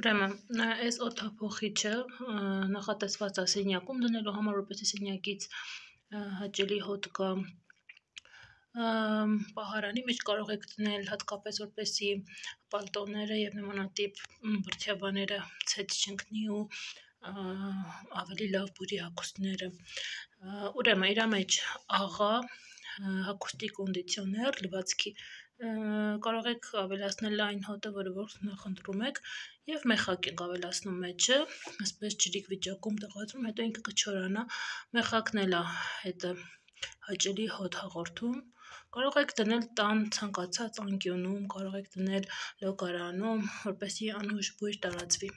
Ուրեմն, այս օդափոխիչը նախատեսված է սենյակում դնելու համար, որպեսզի սենյակից հաճելի հոտ գա պահարանի մեջ կարող եք դնել հատկապես որպեսզի պալտոները եւ նմանատիպ բրդյաբաները ցեծ չընկնի ու ավելի լավ բուրի հագուստները։ Ուրեմն իր մեջ աղա հագուստի կոնդիցիոներ լվացքի կարող եք ավելացնել այն հոտը, որը որ նախընտրում եք, եւ մեխակ եք ավելացնում մեջը, այսպես ջրիկ վիճակում տեղադրում, հետո ինքը կչորանա, մեխակն էլ է հետը հաճելի հոտ հաղորդում։ Կարող եք դնել տան ցանկացած անկյունում, կարող եք դնել լոգարանում, որպեսզի անուշ բույր տարածվի։